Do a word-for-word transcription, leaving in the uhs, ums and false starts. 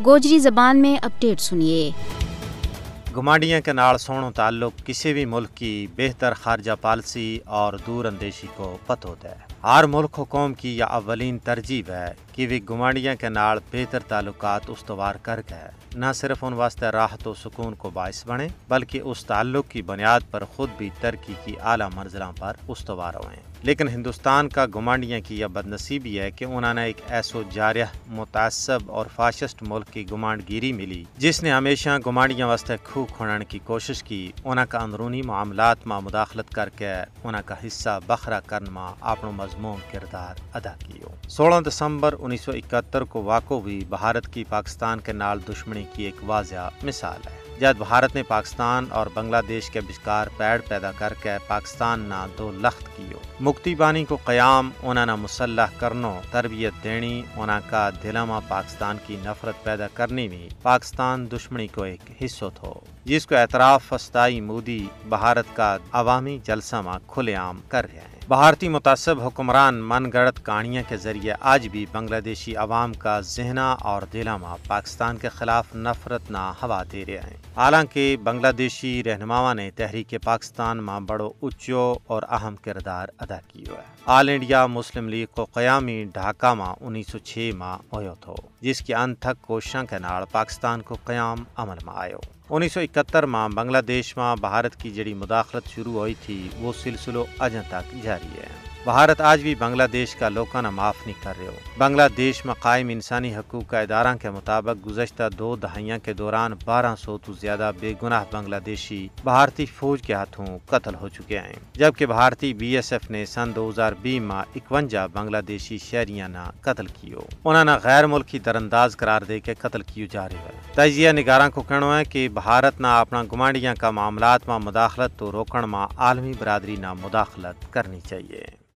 گوجری زبان میں اپڈیٹ سنیے۔ گمانڈیاں کے نال سوہنو تعلق کسی بھی ملک کی بہتر خارجہ پالیسی اور دور اندیشی کو پتو دے۔ ہر ملک و قوم کی یا اولین ترجیح ہے کہ ویہ گمانڈیاں کے نال بہتر تعلقات استوار کر کے نہ صرف ان واسطے راحت و سکون کو باعث بنے، بلکہ اس تعلق کی بنیاد پر خود بھی ترقی کی اعلیٰ منزلاں پر استوار ہوئیں۔ لیکن ہندوستان کا گمانڈیاں کی یا بدنصیبی ہے کہ انہاں نے ایک ایسو جارح، متعصب اور فاشسٹ ملک کی گمانڈ گیری ملی، جس نے ہمیشہ گمانڈیاں واسطے کھوہ کھنن کی کوشش کی، انہاں کا اندرونی معاملات ما مداخلت کر کے انہاں کا حصہ بخرا کرن ما اپنو مضمون کردار ادا کیو۔ سولہ دسمبر انیس سو اکہتر کو واقعو بھی بھارت کی پاکستان کے نال دشمنی کی ایک واضح مثال ہے۔ جد بھارت نے پاکستان اور بنگلہ دیش کے بچکار پیڑ پیدا کر کے پاکستان نا دو لخت کیو۔ مکتی بانی کو قیام انہاں نا مسلح کرنو، تربیت دینی، انہاں کا دلاں ما پاکستان کی نفرت پیدا کرنی میں پاکستان دشمنی کو ایک حصو تھو، جس کو اعتراف فستائی مودی بھارت کا عوامی جلسہ ما کھلے عام کر رہے ہیں۔ بھارتی متعصب حکمران من گڑت کہانیاں کے ذریعے آج بھی بنگلہ دیشی عوام کا ذہنہ اور دلاں ما پاکستان کے خلاف نفرت نا ہوا دے رہے ہیں۔ حالانکہ بنگلہ دیشی رہنماواں نے تحریک پاکستان ما بڑو اچو اور اہم کردار ادا کیو ہے۔ آل انڈیا مسلم لیگ کو قیامی ڈھاکہ ما انیس سو چھ ما ہویو تھو، جس کے انت تک کوششاں کے نال پاکستان کو قیام عمل ما آیو۔ انیس سو اکہتر ما بنگلہ دیش ما بھارت کی جڑی مداخلت شروع ہوئی تھی، وہ سلسلو اجاں تک جاری ہے۔ بھارت آج بھی بنگلہ دیش کا لوکاں نا معاف نہیں کر رہیو۔ بنگلہ دیش ما قائم انسانی حقوق کا اداراں کے مطابق گزشتہ دو دہائیاں کے دوران بارہ سو تو زیادہ بے گناہ بنگلہ دیشی بھارتی فوج کے ہاتھوں قتل ہو چکے ہیں، جبکہ بھارتی بی ایس ایف نے سن دو ہزار بیس ما اکونجا بنگلہ دیشی شہریاں نا قتل کیو۔ انہاں نا غیر ملکی درانداز قرار دے کے قتل کیو جا رہیو ہے۔ تجزیہ نگاراں کو کہنو ہے کہ بھارت نا اپنا گمانڈیاں کا معاملات ما مداخلت تو روکن ما عالمی برادری نا مداخلت کرنی چاہیے۔